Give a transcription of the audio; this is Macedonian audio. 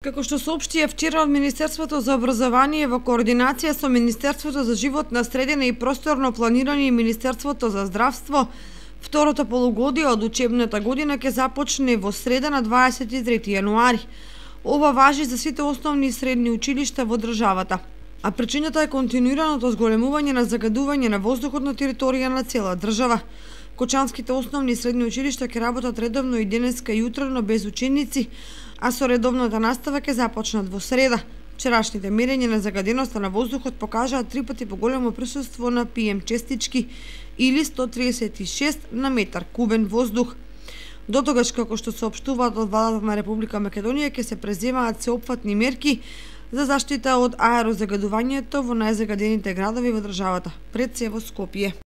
Како што соопштија вчера од Министерството за образование во координација со Министерството за животна средина и просторно планирање и Министерството за здравство, второто полугодие од учебната година ќе започне во среда на 23 јануари. Ова важи за сите основни и средни училишта во државата. А причината е континуираното зголемување на загадување на воздухот на територија на цела држава. Кочанските основни и средни училишта ќе работат редовно и денеска и утрено без ученици, а со редовната настава ќе започнат во среда. Вчерашните мерења на загаденоста на воздухот покажаа 3 пати поголемо присуство на PM честички или 136 на метар кубен воздух. Дотогаш, како што соопштуваат од владата на Република Македонија, ќе се преземаат сеопфатни мерки за заштита од аерозагадувањето во најзагадените градови во државата, пред се во Скопје.